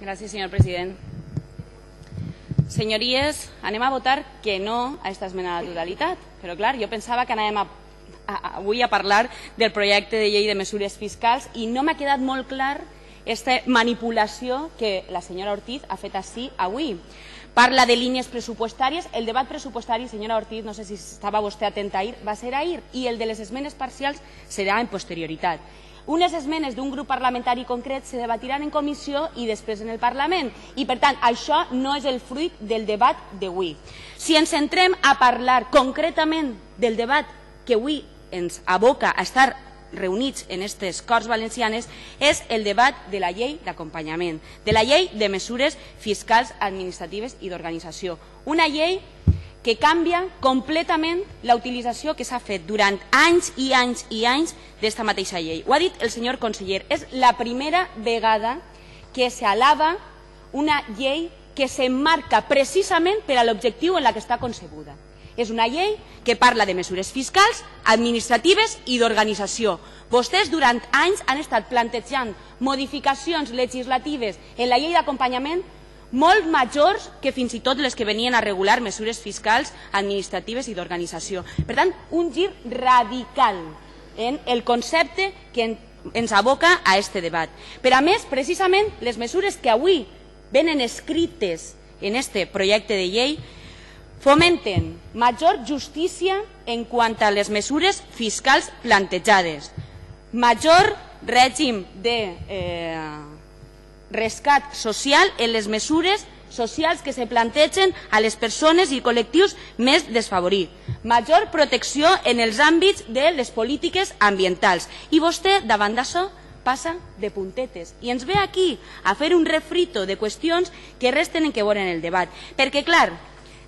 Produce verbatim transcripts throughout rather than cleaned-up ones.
Gràcies, senyor president. Senyories, anem a votar que no a aquesta esmena a la totalitat. Però, clar, jo pensava que anàvem a, a, avui a parlar del projecte de llei de mesures fiscals i no m'ha quedat molt clar aquesta manipulació que la senyora Ortiz ha fet així avui. Parla de línies pressupostàries. El debat pressupostari, senyora Ortiz, no sé si estava vostè atenta ahir, va ser ahir, i el de les esmenes parcials serà en posterioritat. Unes esmenes d'un grup parlamentari concret se debatiran en comissió i després en el Parlament. I, per tant, això no és el fruit del debat d'avui. Si ens centrem a parlar concretament del debat que avui ens aboca a estar reunits en aquestes Corts Valencianes, és el debat de la llei d'acompanyament, de la llei de mesures fiscals, administratives i d'organització. Una llei que canvia completament la utilització que s'ha fet durant anys i anys i anys d'esta mateixa llei. Ho ha dit el senyor conseller, és la primera vegada que s'alaba una llei que s'emmarca precisament per a l'objectiu en la que està concebuda. És una llei que parla de mesures fiscals, administratives i d'organització. Vostès durant anys han estat plantejant modificacions legislatives en la llei d'acompanyament molt majors que fins i tot les que venien a regular mesures fiscals, administratives i d'organització. Per tant, un gir radical en el concepte que ens aboca a aquest debat. Però, a més, precisament, les mesures que avui venen escrites en aquest projecte de llei fomenten major justícia en quant a les mesures fiscals plantejades, major règim de eh, rescat social en les mesures socials que se plantegen a les persones i col·lectius més desfavorits, major protecció en els àmbits de les polítiques ambientals. I vostè, davant d'això, passa de puntetes i ens ve aquí a fer un refrito de qüestions que resten en què veure en el debat. Perquè, clar,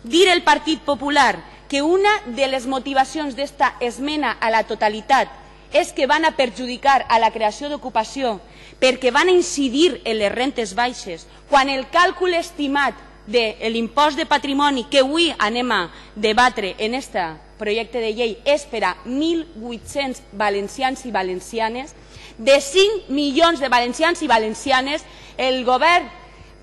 dir el Partit Popular que una de les motivacions d'esta esmena a la totalitat és que van a perjudicar a la creació d'ocupació perquè van a incidir en les rentes baixes, quan el càlcul estimat de l'impost de patrimoni que avui anem a debatre en aquest projecte de llei és per a mil vuit-cents valencians i valencianes, de cinc milions de valencians i valencianes, el govern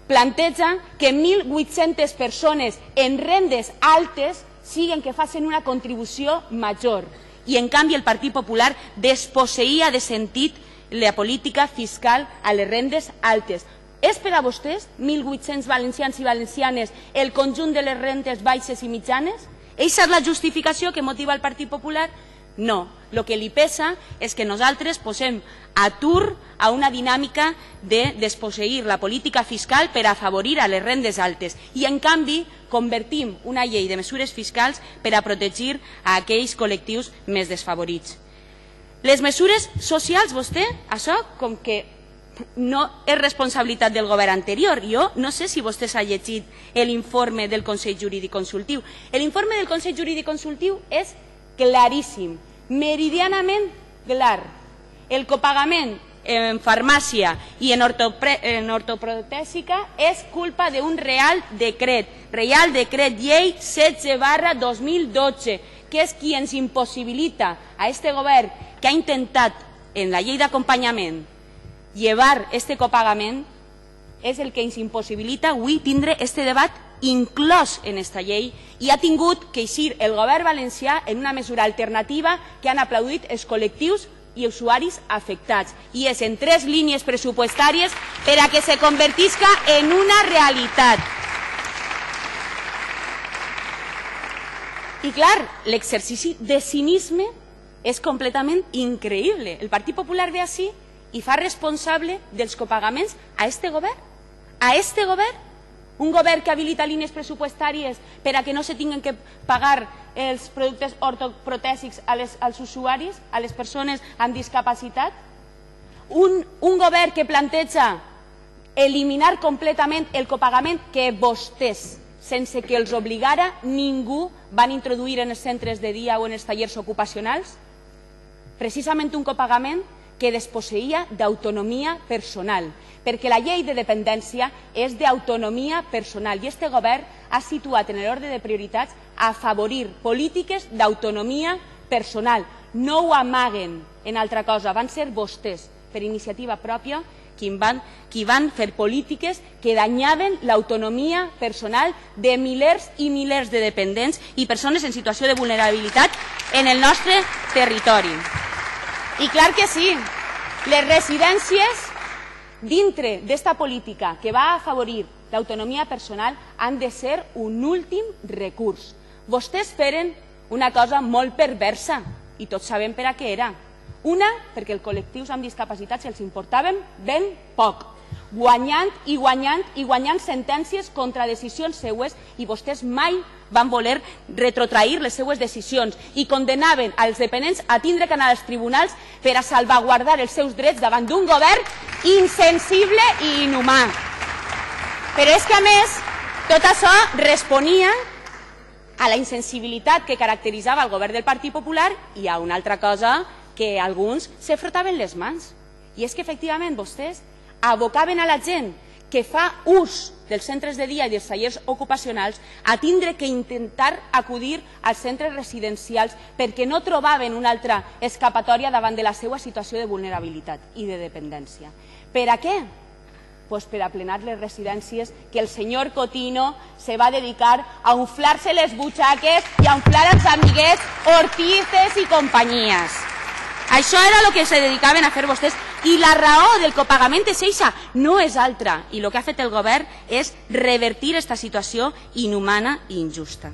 planteja que mil vuit-centes persones en rendes altes siguen que facin una contribució major. I, en canvi, el Partit Popular desposseïa de sentit la política fiscal a les rendes altes. És per a vostès, mil vuit-cents valencians i valencianes, el conjunt de les rentes baixes i mitjanes? Eixa és la justificació que motiva el Partit Popular? No. El que li pesa és que nosaltres posem atur a una dinàmica de desposseir la política fiscal per afavorir a les rendes altes i, en canvi, convertim una llei de mesures fiscals per a protegir a aquells col·lectius més desfavorits. Les mesures socials, vostè, això com que no és responsabilitat del govern anterior. Jo no sé si vostè s'ha llegit l'informe del Consell Jurídic Consultiu. L'informe del Consell Jurídic Consultiu és claríssim, meridianament clar. El copagament en farmàcia i en ortoprotèsica és culpa d'un Real Decret, Real Decret Llei setze barra dos mil dotze, que és qui ens impossibilita a aquest govern que ha intentat en la llei d'acompanyament llevar este copagament, és el que ens impossibilita avui tindre este debat inclòs en aquesta llei, i ha tingut que eixir el govern valencià en una mesura alternativa que han aplaudit els col·lectius i usuaris afectats, i és en tres línies pressupostàries per a que se convertisca en una realitat. I clar, l'exercici de cinisme és completament increïble. El Partit Popular ve així i fa responsable dels copagaments a este govern, a este govern, un govern que habilita línies pressupostàries per a que no se tinguin que pagar els productes ortoprotèsics als usuaris, a les persones amb discapacitat, un govern que planteja eliminar completament el copagament que vostès, sense que els obligara ningú, van introduir en els centres de dia o en els tallers ocupacionals, precisament un copagament que desposseïa d'autonomia personal, perquè la llei de dependència és d'autonomia personal i este govern ha situat en l'ordre de prioritats afavorir polítiques d'autonomia personal. No ho amaguen en altra cosa, van ser vostès, per iniciativa pròpia, qui van, qui van fer polítiques que danyaven l'autonomia personal de milers i milers de dependents i persones en situació de vulnerabilitat en el nostre territori. I clar que sí, les residències dintre d'esta política que va afavorir l'autonomia personal han de ser un últim recurs. Vostès feren una cosa molt perversa i tots sabem per a què era. Una, perquè els col·lectius amb discapacitats els importaven ben poc, guanyant i guanyant i guanyant sentències contra decisions seues i vostès mai van voler retrotrair les seues decisions i condenaven als dependents a tindre que anar als tribunals per a salvaguardar els seus drets davant d'un govern insensible i inhumà. Però és que, a més, tot això responia a la insensibilitat que caracteritzava el govern del Partit Popular i a una altra cosa que alguns se frotaven les mans. I és que, efectivament, vostès abocaven a la gent que fa ús dels centres de dia i dels tallers ocupacionals a tindre que intentar acudir als centres residencials perquè no trobaven una altra escapatòria davant de la seva situació de vulnerabilitat i de dependència. Per a què? Pues per a plenar les residències que el senyor Cotino se va dedicar a inflar-se les butxaques i a inflar els amiguets Ortizes i companyies. Això era el que se dedicaven a fer vostès i la raó del copagament és eixa, no és altra. I el que ha fet el govern és revertir aquesta situació inhumana i injusta.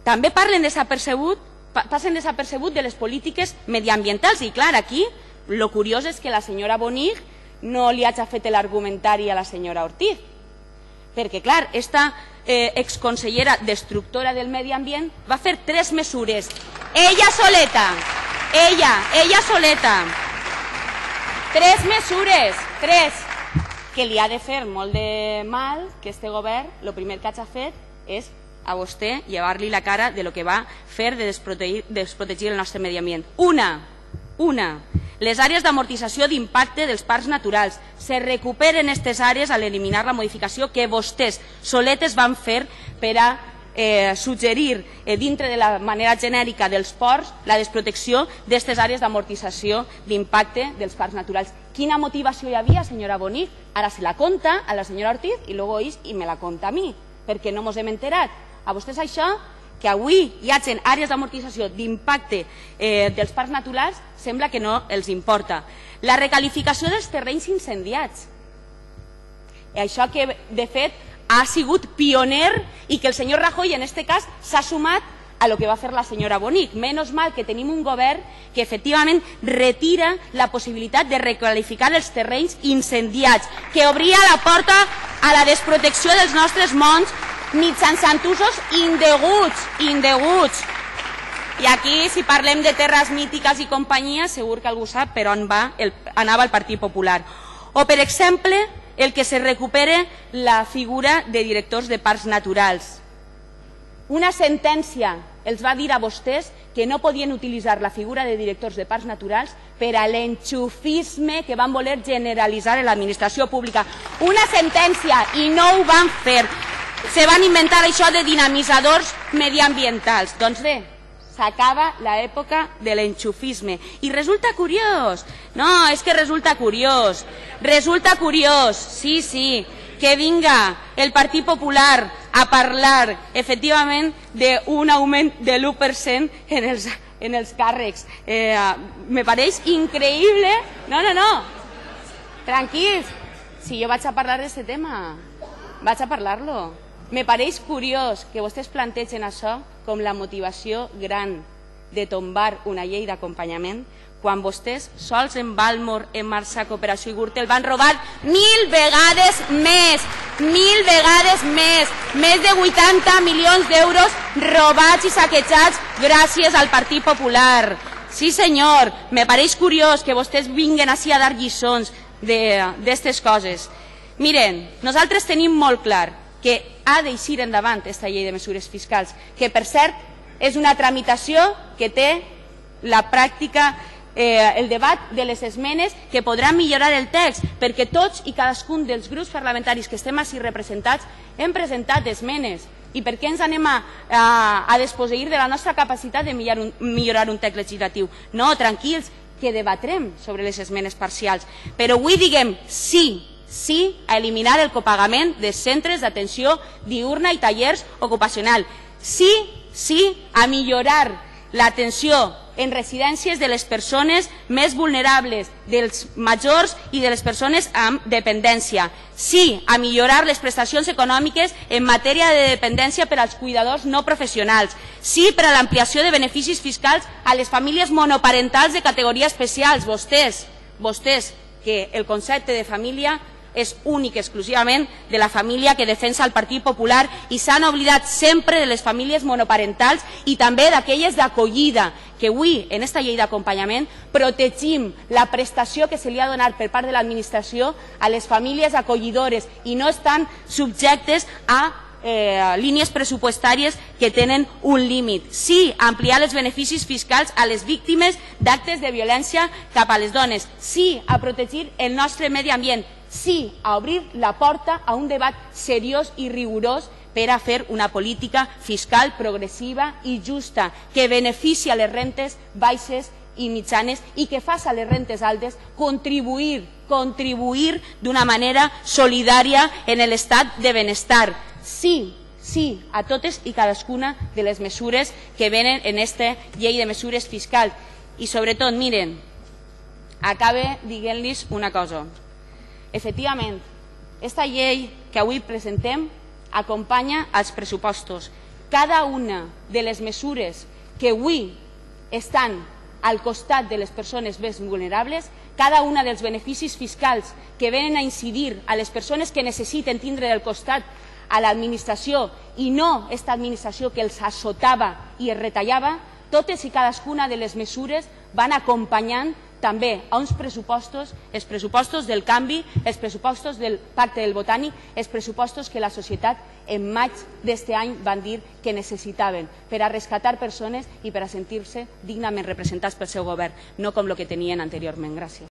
També parlen desapercebut, passen desapercebut de les polítiques mediambientals i clar, aquí el curiós és que la senyora Bonig no li hagi fet l'argumentari a la senyora Ortiz, perquè clar, esta eh, exconsellera destructora del medi ambient va fer tres mesures, ella soleta, ella, ella soleta, tres mesures, tres, que li ha de fer molt de mal que este govern, el primer que hagi fet és a vostè llevar-li la cara de lo que va fer de desprotegir, desprotegir el nostre medi ambient. Una, una, les àrees d'amortització d'impacte dels parcs naturals. Se recuperen aquestes àrees a l'eliminar la modificació que vostès soletes van fer per a eh, suggerir eh, dintre de la manera genèrica dels ports la desprotecció d'aquestes àrees d'amortització d'impacte dels parcs naturals. Quina motivació hi havia, senyora Bonig? Ara se la conta a la senyora Ortiz i luego és i me la conta a mi, perquè no mos hem enterat. A vostès això, que avui hi hagi àrees d'amortització d'impacte eh, dels parcs naturals, sembla que no els importa. La recalificació dels terrenys incendiats. Això que, de fet, ha sigut pioner i que el senyor Rajoy, en aquest cas, s'ha sumat a lo que va fer la senyora Bonig. Menos mal que tenim un govern que efectivament retira la possibilitat de recalificar els terrenys incendiats, que obria la porta a la desprotecció dels nostres monts mitjançant usos indeguts, indeguts. I aquí, si parlem de terres mítiques i companyia, segur que algú sap per on va el, anava el Partit Popular. O, per exemple, el que se recupere la figura de directors de parcs naturals. Una sentència els va dir a vostès que no podien utilitzar la figura de directors de parcs naturals per a l'enxufisme que van voler generalitzar en l'administració pública. Una sentència, i no ho van fer. Se van inventar això de dinamitzadors mediambientals. Doncs bé, s'acaba l'època de l'enxufisme. I resulta curiós. No, és que resulta curiós. Resulta curiós, sí, sí, que vinga el Partit Popular a parlar, efectivament, d'un augment de l'u per cent en els, en els càrrecs. Eh, me pareix increïble. No, no, no. Tranquils. Si jo vaig a parlar d'aquest tema, vaig a parlar-lo. Me pareix curiós que vostès plantegen això com la motivació gran de tombar una llei d'acompanyament quan vostès sols en Balmor, en Marxa, Cooperació i Gürtel van robar mil vegades més, mil vegades més, més de vuitanta milions d'euros robats i saquejats gràcies al Partit Popular. Sí, senyor, me pareix curiós que vostès vinguen així a dar lliçons d'aquestes coses. Miren, nosaltres tenim molt clar que ha d'eixir endavant aquesta llei de mesures fiscals, que per cert és una tramitació que té la pràctica, eh, el debat de les esmenes que podrà millorar el text, perquè tots i cadascun dels grups parlamentaris que estem així representats hem presentat esmenes. I per què ens anem a, a, a desposseir de la nostra capacitat de millorar un, millorar un text legislatiu? No, tranquils, que debatrem sobre les esmenes parcials. Però avui diguem sí, sí a eliminar el copagament de centres d'atenció diürna i tallers ocupacionals. Sí, sí a millorar l'atenció en residències de les persones més vulnerables, dels majors i de les persones amb dependència. Sí a millorar les prestacions econòmiques en matèria de dependència per als cuidadors no professionals. Sí per a l'ampliació de beneficis fiscals a les famílies monoparentals de categoria especial. Vostès, vostès, que el concepte de família és únic exclusivament de la família que defensa el Partit Popular i s'han oblidat sempre de les famílies monoparentals i també d'aquelles d'acollida, que avui en aquesta llei d'acompanyament protegim la prestació que se li ha donat per part de l'administració a les famílies acollidores i no estan subjectes a eh, línies pressupostàries que tenen un límit. Sí a ampliar els beneficis fiscals a les víctimes d'actes de violència cap a les dones. Sí a protegir el nostre medi ambient. Sí a obrir la porta a un debat seriós i rigorós per a fer una política fiscal progressiva i justa que beneficia les rentes baixes i mitjanes i que faci a les rentes altes contribuir, contribuir d'una manera solidària en l'estat de benestar. Sí, sí a totes i cadascuna de les mesures que venen en aquesta llei de mesures fiscals. I sobretot, miren, acabe dient-los una cosa. Efectivament, aquesta llei que avui presentem acompanya els pressupostos. Cada una de les mesures que avui estan al costat de les persones més vulnerables, cada una dels beneficis fiscals que venen a incidir a les persones que necessiten tindre del costat a l'administració i no aquesta administració que els assotava i els retallava, totes i cadascuna de les mesures van acompanyant també a uns pressupostos, els pressupostos del canvi, els pressupostos del Pacte del Botànic, els pressupostos que la societat en maig d'aquest any van dir que necessitaven per a rescatar persones i per a sentir-se dignament representats pel seu govern, no com el que tenien anteriorment. Gràcies.